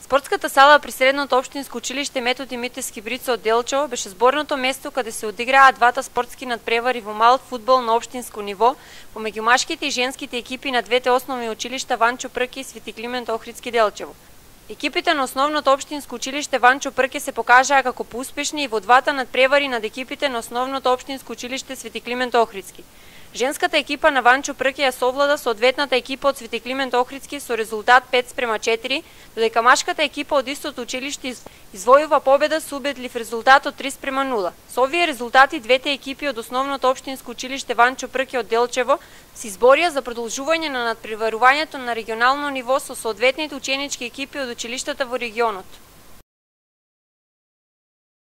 Спортската сала при Средното општинско училиште Методи Митевски Брицо од Делчево беше зборното место каде се одиграа двата спортски надпревари во мал фудбал на општинско ниво помеѓу машките и женските екипи на двете основни училишта Ванчо Прке и Свети Климент Охридски Делчево. Екипите на основното општинско училиште Ванчо Прке се покажаа како поуспешни и во двата надпревари над екипите на основното општинско училиште Свети Климент Охридски. Женската екипа на Ванчо Прке ја совлада соодветната екипа од Свети Климент Охридски со резултат 5:4, додека машката екипа од истото училиште извојува победа со убедлив резултат од 3:0. Со овие резултати двете екипи од основното општинско училиште Ванчо Прке од Делчево се изборија за продолжување на надпреварувањето на регионално ниво со соодветните ученички екипи од училиштата во регионот.